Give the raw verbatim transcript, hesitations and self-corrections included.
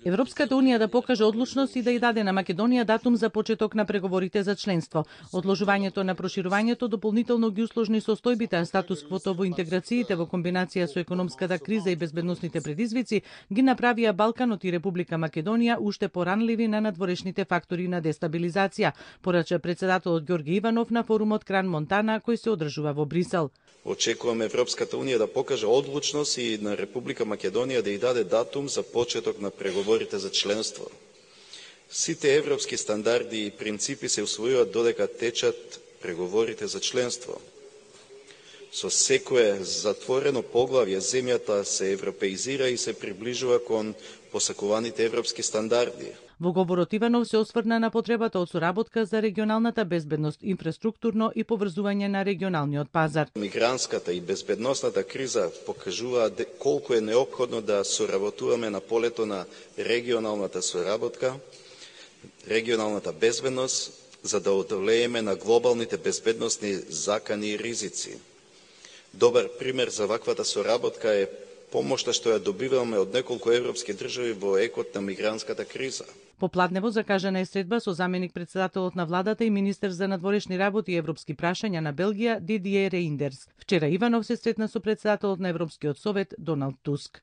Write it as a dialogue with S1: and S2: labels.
S1: Европската унија да покаже одлучност и да ја даде на Македонија датум за почеток на преговорите за членство. Одложувањето на проширувањето дополнително ги усложни состојбите, а статус-квото во интеграциите во комбинација со економската криза и безбедносните предизвици ги направија Балканот и Република Македонија уште поранливи на надворешните фактори на дестабилизација, порача председателот Ѓорги Иванов на форумот Кран Монтана кој се одржува во Брисел.
S2: Очекуваме Европската унија да покаже одлучност и на Република Македонија да ја даде датум за почеток на преговорите за членство. Сите европски стандарди и принципи се усвојуваат додека течат преговорите за членство. Со секое затворено поглавје земјата се европеизира и се приближува кон посакуваните европски стандарди.
S1: Во говорот Иванов се осврна на потребата од соработка за регионалната безбедност, инфраструктурно и поврзување на регионалниот пазар.
S2: Мигрантската и безбедносната криза покажува колку е неопходно да соработуваме на полето на регионалната соработка, регионалната безбедност, за да одолееме на глобалните безбедносни закани и ризици. Добар пример за ваквата соработка е помошта што ја добиваме од неколку европски држави во екот на мигрантската криза.
S1: Попладнево закажана е средба со заменик председателот на владата и министер за надворешни работи и европски прашања на Белгија Дидие Рейндерс. Вчера Иванов се сретна со председателот на Европскиот совет Доналд Туск.